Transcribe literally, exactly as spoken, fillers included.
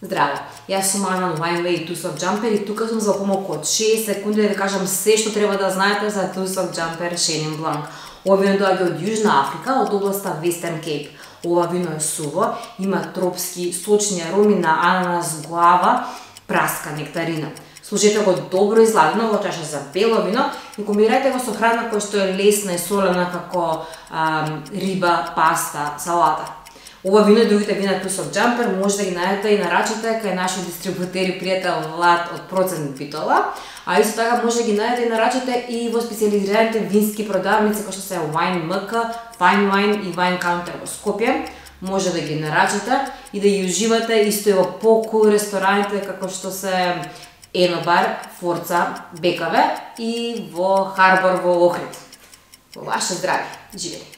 Здраво, јас сум Ана Wine Two-Sock Jumper и тука сум за помалку од шест секунди да ви кажам се што треба да знаете за Two-Sock Jumper Chenin Blanc. Ова вино доаѓа од Јужна Африка, од областа Western Cape. Ова вино е суво, има тропски сочни ароми на ананас, глава, праска, нектарина. Служете го добро изладено во чаша за бело вино и комбинирајте го со храна која што е лесна и солена како ам, риба, паста, салата. Ова вино и другите вина Two-Sock Jumper може да ги најдете и нарачате кај наши дистрибутери пријател Влад од Процент Битола, а исто така може да ги најдете и нарачате и во специализираните вински продавници кои што се Wine ем ка, Fine Wine и Wine Counter во Скопје. Може да ги нарачате и да ги уживате исто и во по-кул рестораните како што се Енобар, Форца, Бекаве и во Харбор во Охрид. Во ваше здравје, живели!